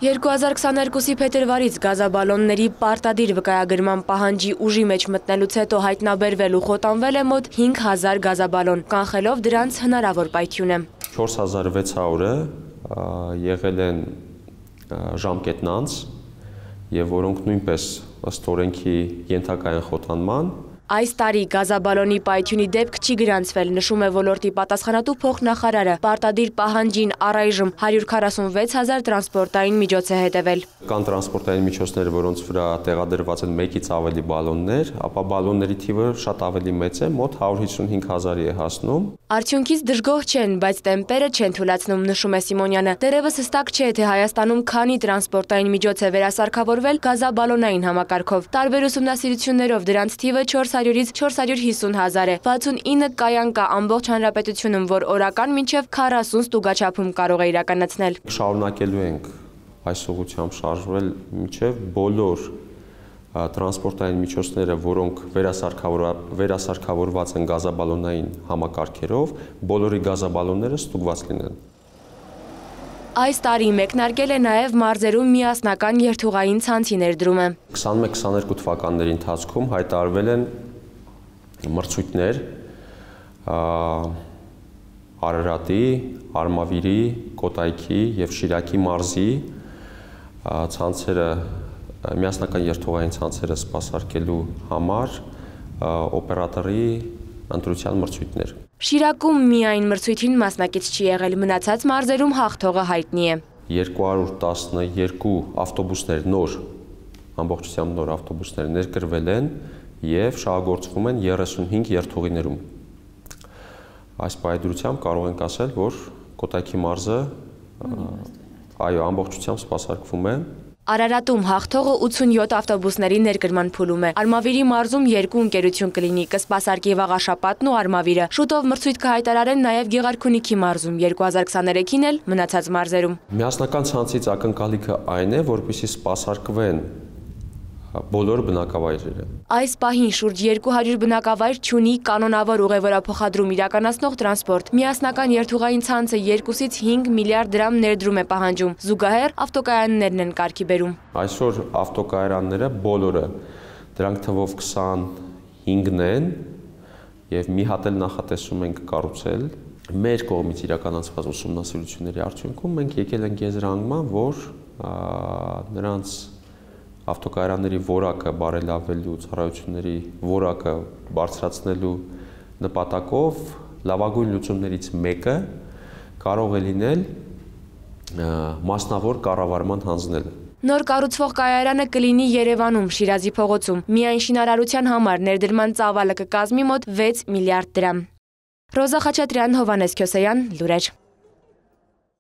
2022-ի փետրվարից գազաբալոնների պարտադիր վկայագրման պահանջի ուժի մեջ մտնելուց հետո հայտնաբերվել ու խոտանվել է մոտ 5000 գազաբալոն, կանխելով դրանց հնարավոր պայթյունը։ 4600-ը եղել են ժամկետն անց եւ որոնք նույնպես ըստ օրենքի ենթակա են խոտանման։ Այս տարի գազաբալոնի պայթյունի դեպք չի գրանցվել, նշում է ոլորտի պատասխանատու փոխնախարարը։ Պարտադիր պահանջին առայժմ 146,000 տրանսպորտային միջոց է հետևել։ Կան տրանսպորտային միջոցներ, որոնց վրա տեղադրված են 1-ից ավելի բալոններ, ապա բալոնների թիվը շատ ավելի մեծ է, մոտ 155,000-ի է հասնում։ Արդյունքից դժգոհ չեն, բայց տեմպերը չեն թույլատրում, նշում է Սիմոնյանը։ Դեռևս հստակ չէ, թե Հայաստանում քանի տրանսպորտային միջոց է վերասարքավորվել գազաբալոնային համակարգով։ Տարբեր ուսումնասիրություններով դրանց թիվը 400-ից 450,000 է։ 69 կայան կա ամբողջ հանրապետությունում, որ օրական մինչև 40 ստուգաչափում կարող է իրականացնել։ Շարունակելու ենք այս ուղղությամբ շարժվել մինչև բոլոր տրանսպորտային միջոցները, որոնք վերասարքավորված են գազաբալոնային համակարգերով, բոլորի գազաբալոնները ստուգված լինեն։ Այս տարի մեկնարկել է նաև մարզերում միասնական երթուղային ցանցի ներդրումը։ 21-22 թվականների ընթացքում հայտարարվել են մրցույթներ Արարատի, Արմավիրի, Կոտայքի եւ Շիրակի մարզի ցանցերը միասնական երթուղային ցանցերը սպասարկելու համար օպերատորի ընտրության մրցույթներ։ Շիրակում միայն մրցույթին մասնակից չի եղել, մնացած մարզերում հաղթողը հայտնի է։ 212 ավտոբուսներ նոր, ամբողջությամբ նոր ավտոբուսներ ներկրվել են եւ շահագործվում են 35 երթուղիներում։ Այս պայմանությամբ կարող ենք ասել, որ Կոտայքի մարզը ամբողջությամբ սպասարկվում է։ Արարատում հաղթողը 87 ավտոբուսների ներկրման փուլում է։ Արմավիրի մարզում 2 ընկերություն կլինի, կսպասարկի Վաղաշապատն ու Արմավիրը։ Շուտով մրցույթ կհայտարարեն նաև Գեղարքունիքի մարզում, 2023-ին էլ մնացած մարզերում։ Միասնական ցանցից ակնկալիքը այն է, որպեսզի սպասարկվեն բոլոր բնակավայրերը։ Այս պահին շուրջ 200 բնակավայր չունի կանոնավոր ուղևորափոխադրում իրականացնող տրանսպորտ։ Միասնական երթուղային ցանցը 2-ից 5 միլիարդ դրամ ներդրում է պահանջում։ Զուգահեռ ավտոկայաններն են կարգի բերում։ Այսօր ավտոկայանները բոլորը, դրանք թվով 25-ն են եւ մի հատ էլ նախատեսում ենք կառուցել։ Մեր կողմից իրականացված ուսումնասիրությունների արդյունքում մենք եկել ենք եզրահանգման, որ նրանց ավտոկայանների որակը բարելավելու, ծառայությունների որակը բարձրացնելու նպատակով լավագույն լուծումներից մեկը կարող է լինել մասնավոր կառավարման հանձնելը։ Նոր կառուցվող կայարանը կլինի Երևանում, Շիրազի փողոցում։ Միայն շինարարության համար ներդրման ծավալը կկազմի մոտ 6 միլիարդ դրամ։ Ռոզա Խաչատրյան, Հովհաննես Քյոսեյան, լուրեր։